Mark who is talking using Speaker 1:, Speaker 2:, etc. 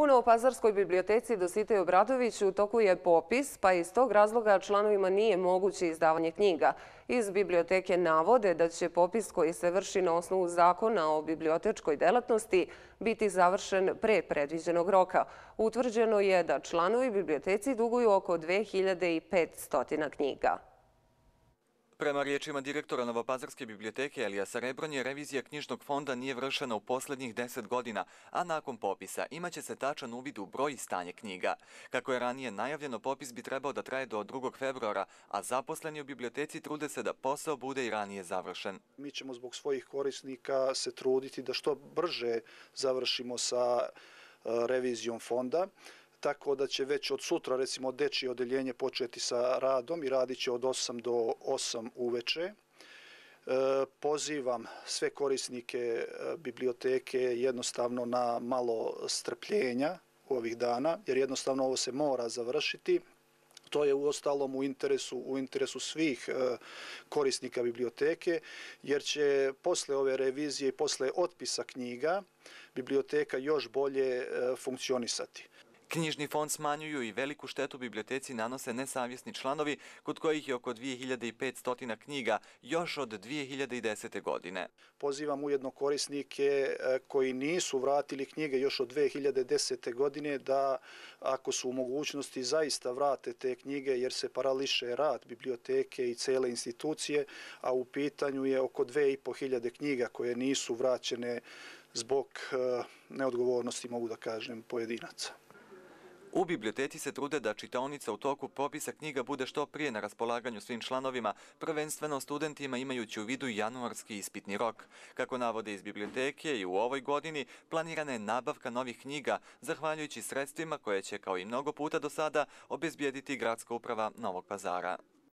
Speaker 1: U Novopazarskoj biblioteci Dositej Obradović u toku je popis, pa iz tog razloga članovima nije moguće izdavanje knjiga. Iz biblioteke navode da će popis koji se vrši na osnovu zakona o bibliotečkoj delatnosti biti završen pre predviđenog roka. Utvrđeno je da članovi biblioteci duguju oko 2500 knjiga.
Speaker 2: Prema riječima direktora Novopazarske biblioteke Elijasa Rebronje, revizija knjižnog fonda nije vršena u posljednjih 10 godina, a nakon popisa imaće se tačan uvid u broj i stanje knjiga. Kako je ranije najavljeno, popis bi trebao da traje do 2. februara, a zaposleni u biblioteci trude se da posao bude i ranije završen.
Speaker 3: Mi ćemo zbog svojih korisnika se truditi da što brže završimo sa revizijom fonda, tako da će već od sutra, recimo, dečije odeljenje početi sa radom i radit će od 8 do 8 uveče. Pozivam sve korisnike biblioteke jednostavno na malo strpljenja ovih dana, jer jednostavno ovo se mora završiti. To je uostalom u interesu svih korisnika biblioteke, jer će posle ove revizije i posle otpisa knjiga biblioteka još bolje funkcionisati.
Speaker 2: Knjižni fond smanjuju i veliku štetu biblioteci nanose nesavjesni članovi, kod kojih je oko 2500 knjiga još od 2010. godine.
Speaker 3: Pozivam ujedno korisnike koji nisu vratili knjige još od 2010. godine da, ako su u mogućnosti, zaista vrate te knjige, jer se parališe rad biblioteke i cele institucije, a u pitanju je oko 2500 knjiga koje nisu vraćene zbog neodgovornosti, mogu da kažem, pojedinaca.
Speaker 2: U biblioteci se trude da čitaonica u toku popisa knjiga bude što prije na raspolaganju svim članovima, prvenstveno studentima, imajući u vidu januarski ispitni rok. Kako navode iz biblioteke, i u ovoj godini planirana je nabavka novih knjiga, zahvaljujući sredstvima koje će, kao i mnogo puta do sada, obezbijediti Gradska uprava Novog Pazara.